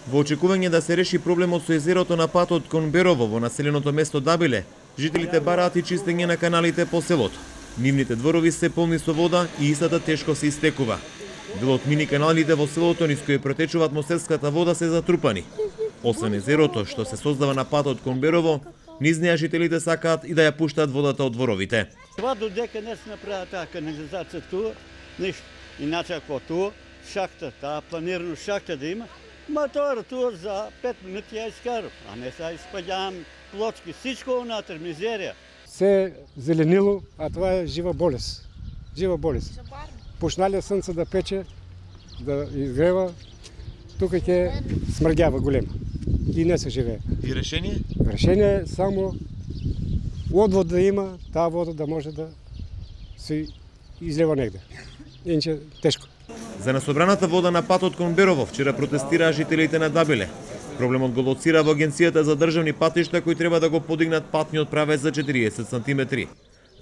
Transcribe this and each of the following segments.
Во очекување да се реши проблемот со езерото на патот кон Берово во населеното место Дабиле, жителите бараат и чистење на каналите по селото. Нивните дворови се полни со вода и истата тешко се истекува. Дел од мини каналите во селото низ кои протечува атмосферската вода се затрупани. Освен езерото што се создава на патот кон Берово, низ неа жителите сакаат и да ја пуштаат водата од дворовите. Това додека не се направи таа канализација туа, ништо. Иначе ако туа, шахта, таа планирано шахта да има, мотора туа за 5 минути ја искарав, а не са испаѓавам плочки, всичко унатре, мизерија. Се зеленило, а това е жива болест. Жива болест. Пушнале слънце да пече, да изгрева, тук ќе смрдява голема и не се живее. И решение? Решение е само одвод да има, таа вода да може да се излева негде. Иначе тешко. За насобраната вода на патот кон Берово вчера протестираа жителите на Дабиле. Проблемот го лоцира во Агенцијата за државни патишта кои треба да го подигнат патниот правец за 40 сантиметри.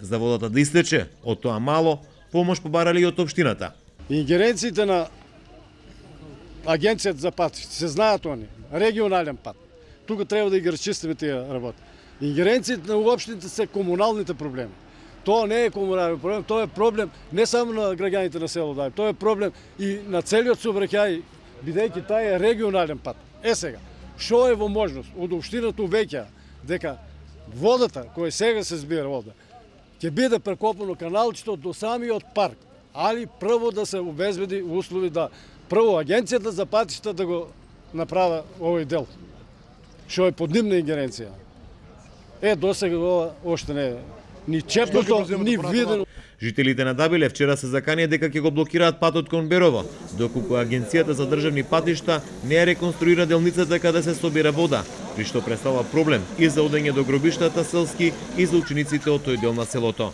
За водата да истече, од тоа мало, помош побарали и од општината. Ингеренциите на Агенцијата за патишта се знаат они, регионален пат. Тука треба да ги разчистиме тие работи. Ингеренциите на општините се комуналните проблеми. Тоа не е комунален проблем, тоа е проблем не само на граѓаните на село Дабиле, тоа е проблем и на целиот сообраќај, бидејќи тај е регионален пат. Сега, што е во можност од општината увеќа дека водата која сега се збира вода ќе биде прекопано каналчето до самиот парк, али прво да се обезбеди услови да прво Агенцијата за патишта да го направи овој дел, што е под нивна ингеренција. Досега ова оште не е ни чепнато, ни видено. Жителите на Дабиле вчера се заканија дека ќе го блокираат патот кон Берово, доколку Агенцијата за државни патишта не ја реконструира делницата каде се собира вода, при што представува проблем и за одење до гробиштата селски и за учениците од тој дел на селото.